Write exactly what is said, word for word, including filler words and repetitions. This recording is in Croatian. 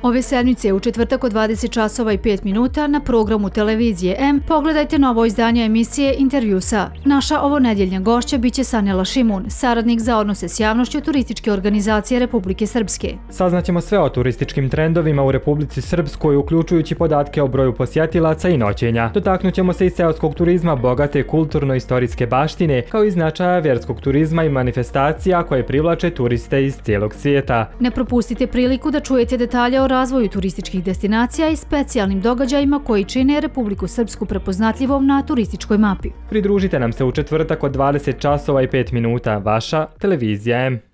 Ove sedmice u četvrtak od dvadeset časova i pet minuta na programu televizije M pogledajte novo izdanje emisije Intervju sa. Naša ovonedjeljna gošća biće Sanela Šimun, saradnik za odnose s javnošću Turističke organizacije Republike Srpske. Saznaćemo sve o turističkim trendovima u Republici Srpskoj, uključujući podatke o broju posjetilaca i noćenja. Dotaknućemo se i seoskog turizma, bogate kulturno-istorijske baštine, kao i značaja vjerskog turizma i manifestacija koje privlače turiste iz cijelog svijeta. Ne propustite priliku da čujete detalje o razvoju turističkih destinacija i specijalnim događajima koji čine Republiku Srpsku prepoznatljivom na turističkoj mapi. Pridružite nam se u četvrtak od dvadeset časova i pet minuta. Vaša televizija M.